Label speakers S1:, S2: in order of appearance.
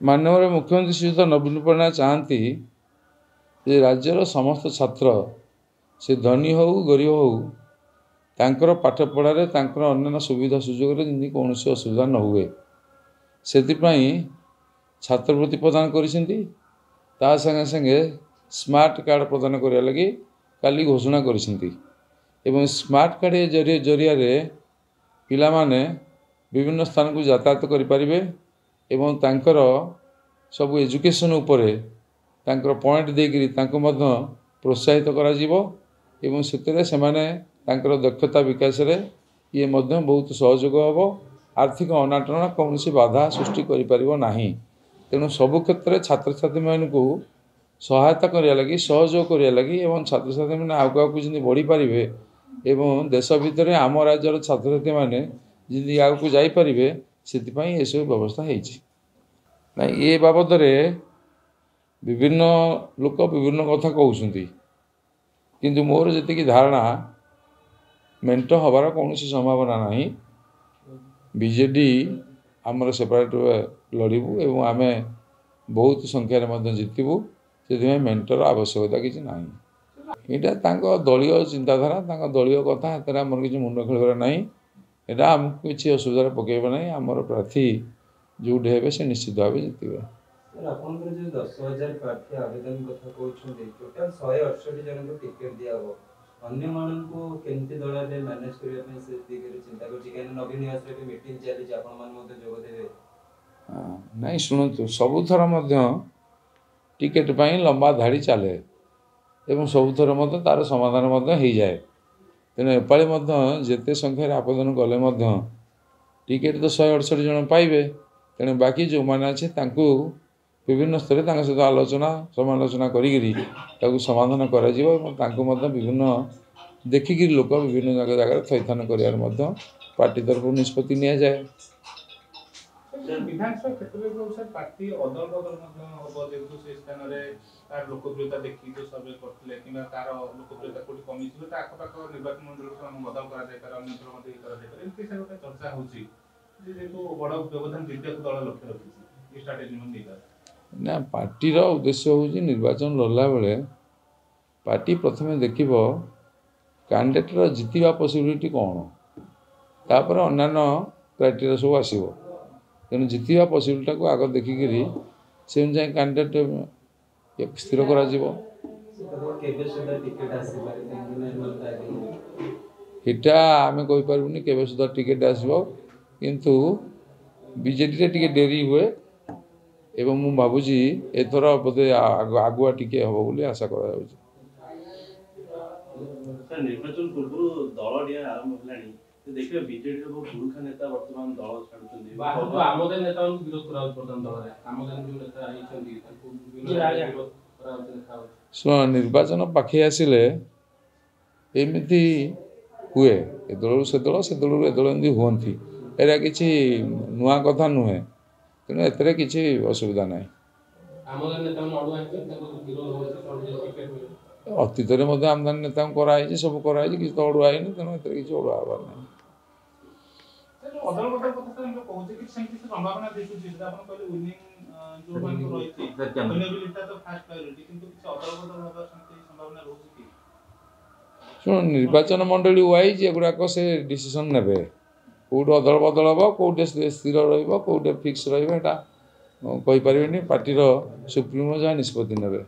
S1: ମାନ୍ୟବର ମୁଖ୍ୟମନ୍ତ୍ରୀ ଶ୍ରୀଯୁକ୍ତ ନବୀନ ପଟ୍ଟନାୟକ ଚାହାନ୍ତି ଯେ ରାଜ୍ୟର ସମସ୍ତ ଛାତ୍ର, ସେ ଧନୀ ହେଉ ଗରିବ ହେଉ, ତାଙ୍କର ପାଠପଢ଼ାରେ ତାଙ୍କର ଅନ୍ୟାନ୍ୟ ସୁବିଧା ସୁଯୋଗରେ ଯେମିତି କୌଣସି ଅସୁବିଧା ନ ହୁଏ, ସେଥିପାଇଁ ଛାତ୍ରବୃତ୍ତି ପ୍ରଦାନ କରିଛନ୍ତି। ତା ସାଙ୍ଗେ ସାଙ୍ଗେ ସ୍ମାର୍ଟ କାର୍ଡ଼ ପ୍ରଦାନ କରିବା ଲାଗି କାଲି ଘୋଷଣା କରିଛନ୍ତି ଏବଂ ସ୍ମାର୍ଟ କାର୍ଡ଼ ଜରିଆରେ ପିଲାମାନେ ବିଭିନ୍ନ ସ୍ଥାନକୁ ଯାତାୟାତ କରିପାରିବେ ଏବଂ ତାଙ୍କର ସବୁ ଏଜୁକେସନ୍ ଉପରେ ତାଙ୍କର ପଏଣ୍ଟ ଦେଇକରି ତାଙ୍କୁ ମଧ୍ୟ ପ୍ରୋତ୍ସାହିତ କରାଯିବ ଏବଂ ସେଥିରେ ସେମାନେ ତାଙ୍କର ଦକ୍ଷତା ବିକାଶରେ ଇଏ ମଧ୍ୟ ବହୁତ ସହଯୋଗ ହେବ। ଆର୍ଥିକ ଅନାଟନ କୌଣସି ବାଧା ସୃଷ୍ଟି କରିପାରିବ ନାହିଁ। ତେଣୁ ସବୁ କ୍ଷେତ୍ରରେ ଛାତ୍ରଛାତ୍ରୀମାନଙ୍କୁ ସହାୟତା କରିବା ଲାଗି, ସହଯୋଗ କରିବା ଲାଗି ଏବଂ ଛାତ୍ରଛାତ୍ରୀମାନେ ଆଗକୁ ଆଗକୁ ଯେମିତି ବଢ଼ିପାରିବେ ଏବଂ ଦେଶ ଭିତରେ ଆମ ରାଜ୍ୟର ଛାତ୍ରଛାତ୍ରୀମାନେ ଯେମିତି ଆଗକୁ ଯାଇପାରିବେ, ସେଥିପାଇଁ ଏସବୁ ବ୍ୟବସ୍ଥା ହେଇଛି। ନାଇଁ, ଏ ବାବଦରେ ବିଭିନ୍ନ ଲୋକ ବିଭିନ୍ନ କଥା କହୁଛନ୍ତି, କିନ୍ତୁ ମୋର ଯେତିକି ଧାରଣା ମେଣ୍ଟ ହେବାର କୌଣସି ସମ୍ଭାବନା ନାହିଁ। ବିଜେଡ଼ି ଆମର ସେପାରେଟ୍ ଲଢ଼ିବୁ ଏବଂ ଆମେ ବହୁତ ସଂଖ୍ୟାରେ ମଧ୍ୟ ଜିତିବୁ, ସେଥିପାଇଁ ମେଣ୍ଟର ଆବଶ୍ୟକତା କିଛି ନାହିଁ। ଏଇଟା ତାଙ୍କ ଦଳୀୟ ଚିନ୍ତାଧାରା, ତାଙ୍କ ଦଳୀୟ କଥା, ଏଥିରେ ଆମର କିଛି ମୁଣ୍ଡ ଖେଳିବାର ନାହିଁ। ଏଇଟା ଆମକୁ କିଛି ଅସୁବିଧାରେ ପକାଇବ ନାହିଁ। ଆମର ପ୍ରାର୍ଥୀ ଯେଉଁଠି ହେବେ ସେ ନିଶ୍ଚିତ ଭାବେ ଜିତିବେ।
S2: ଆପଣଙ୍କର ଯେଉଁ 10,000 ପ୍ରାର୍ଥୀ ଆବେଦନ କଥା କହୁଛନ୍ତି, ଟୋଟାଲ 168 ଜଣଙ୍କୁ ଟିକେଟ୍ ଦିଆହବ, ଅନ୍ୟମାନଙ୍କୁ କେମିତି ଦଳରେ ମ୍ୟାନେଜ କରିବା ପାଇଁ ସେ ଦିଗରେ ଚିନ୍ତା କରୁଛି? କାହିଁକିନା ନବୀନ ନିବାସରେ ବି ମିଟିଂ ଚାଲିଛି, ଆପଣମାନେ ମଧ୍ୟ ଯୋଗ ଦେବେ।
S1: ନାଇଁ, ଶୁଣନ୍ତୁ, ସବୁଥର ମଧ୍ୟ ଟିକେଟ୍ ପାଇଁ ଲମ୍ବା ଧାଡ଼ି ଚାଲେ ଏବଂ ସବୁଥର ମଧ୍ୟ ତା'ର ସମାଧାନ ମଧ୍ୟ ହେଇଯାଏ। ତେଣୁ ଏପାଳି ମଧ୍ୟ ଯେତେ ସଂଖ୍ୟାରେ ଆବେଦନ କଲେ ମଧ୍ୟ ଟିକେଟ୍ ତ 168 ଜଣ ପାଇବେ। ତେଣୁ ବାକି ଯେଉଁମାନେ ଅଛି ତାଙ୍କୁ ବିଭିନ୍ନ ସ୍ତରରେ ତାଙ୍କ ସହିତ ଆଲୋଚନା ସମାଲୋଚନା କରିକିରି ତାକୁ ସମାଧାନ କରାଯିବ ଏବଂ ତାଙ୍କୁ ମଧ୍ୟ ବିଭିନ୍ନ ଦେଖିକିରି ଲୋକ ବିଭିନ୍ନ ଜାଗାରେ ଥଇଥାନ କରିବାର ମଧ୍ୟ ପାର୍ଟି ତରଫରୁ ନିଷ୍ପତ୍ତି ନିଆଯାଏ।
S3: ବିଧାନସଭା କ୍ଷେତ୍ରରେ ଯୋଉ ସାର୍ ପ୍ରାର୍ଥୀ ଅଦଳ ବଦଳ ମଧ୍ୟ ହବ, ଯେହେତୁ ସେ ସ୍ଥାନରେ ତାର ଲୋକପ୍ରିୟତା ଦେଖିକି ଯୋଉ ସର୍ଭେ କରିଥିଲେ କିମ୍ବା ତାର ଲୋକପ୍ରିୟତା କୋଉଠି କମିଯିବ, ତା ଆଖପାଖ ନିର୍ବାଚନ ମଣ୍ଡଳୀକୁ ସେମାନଙ୍କୁ ବଦଳ କରାଯାଇପାରେ, ଅନ୍ୟତ୍ର ମଧ୍ୟ ଇଏ କରାଯାଇପାରେ, ଏମିତି ସାର୍ ଗୋଟେ ଚର୍ଚ୍ଚା ହଉଛି ଯେ ଯେହେତୁ ବଡ଼ ବ୍ୟବଧାନ ଜିତିବାକୁ ଦଳ ଲକ୍ଷ୍ୟ ରଖିଛି, ଏ ଷ୍ଟ୍ରାଟେଜି ମଧ୍ୟ ନେଇପାରେ।
S1: ନା, ପାର୍ଟିର ଉଦ୍ଦେଶ୍ୟ ହେଉଛି ନିର୍ବାଚନ ଲଢ଼ିଲା ବେଳେ ପାର୍ଟି ପ୍ରଥମେ ଦେଖିବ କ୍ୟାଣ୍ଡିଡେଟ୍ର ଜିତିବା ପସିବିଲିଟି କ'ଣ, ତାପରେ ଅନ୍ୟାନ୍ୟ କ୍ରାଇଟେରିଆ ସବୁ ଆସିବ। ତେଣୁ ଜିତିବା ପସିବିଲିଟିଟାକୁ ଆଗ ଦେଖିକିରି ସେ ଅନୁଯାୟୀ କ୍ୟାଣ୍ଡିଡେଟ୍ ସ୍ଥିର କରାଯିବ। ଏଇଟା ଆମେ କହିପାରିବୁନି କେବେ ସୁଦ୍ଧା ଟିକେଟ୍ ଆସିବ, କିନ୍ତୁ ବିଜେଡ଼ିରେ ଟିକେ ଡେରି ହୁଏ ଏବଂ ମୁଁ ଭାବୁଛି ଏଥର ବୋଧେ ଆଗୁଆ ଟିକେ ହେବ ବୋଲି ଆଶା କରାଯାଉଛି।
S4: ନିର୍ବାଚନ ପୂର୍ବରୁ ଦଳ ଡିଆଁ ଆରମ୍ଭ ହେଲାଣି, ଦେଖିବା ବିଜେଡିର ବହୁ ପୁରୁଖା ନେତା ବର୍ତ୍ତମାନ ଦଳ ଛାଡୁଛନ୍ତି,
S5: ଆମଦାନୀ ନେତାମାନଙ୍କୁ ବିରୋଧ କରାଯାଉଛି। ବର୍ତ୍ତମାନ ଦଳରେ ଆମଦାନୀ ଯୋଉ ନେତା ହେଇଛନ୍ତି ତାଙ୍କୁ ବିରୋଧ କରାଯାଉଛି ଦେଖାଯାଉଛି।
S1: ଶୁଣ, ନିର୍ବାଚନ ପାଖେଇ ଆସିଲେ ଏମିତି ହୁଏ, ଏ ଦଳରୁ ସେ ଦଳ, ସେ ଦଳରୁ ଏ ଦଳ, ଏମିତି ହୁଅନ୍ତି। ଏଇଟା କିଛି ନୂଆ କଥା ନୁହେଁ, ତେଣୁ ଏଥିରେ କିଛି ଅସୁବିଧା ନାହିଁ। ଅତୀତରେ ମଧ୍ୟ ଆମଦାନୀ ନେତାଙ୍କୁ କରାହେଇଛି, ସବୁ କରାହେଇଛି, କିଛି ତ ଅଡ଼ୁଆ ହେଇନି, ତେଣୁ ଏଥିରେ କିଛି ଅଡ଼ୁଆ ହେବାର ନାହିଁ।
S3: ଅଦଳ ବଦଳ କଥା ସାର୍ କହୁଛେ, କିଛି ସେମିତି ସମ୍ଭାବନା ଦିଶୁଛି? ଆପଣ କହିଲେ ୱିନିଂ ଯୋଉମାନଙ୍କୁ ରହିଛି ୱିନେବିଲିଟି ତ ଫାଷ୍ଟ ପ୍ରାୟୋରିଟି, କିନ୍ତୁ କିଛି ଅଦଳ ବଦଳ ହେବାର ସେମିତି ସମ୍ଭାବନା ରହୁଛି କି?
S1: ଶୁଣ, ନିର୍ବାଚନ ମଣ୍ଡଳୀ ୱାଇଜ୍ ଏଗୁଡ଼ାକ ସେ ଡିସିସନ୍ ନେବେ, କେଉଁଠି ଅଦଳ ବଦଳ ହେବ, କେଉଁଠି ସ୍ଥିର ରହିବ, କେଉଁଠି ଫିକ୍ସ ରହିବ, ଏଇଟା କହିପାରିବେନି। ପାର୍ଟିର ସୁପ୍ରିମୋ ଯାହା ନିଷ୍ପତ୍ତି ନେବେ।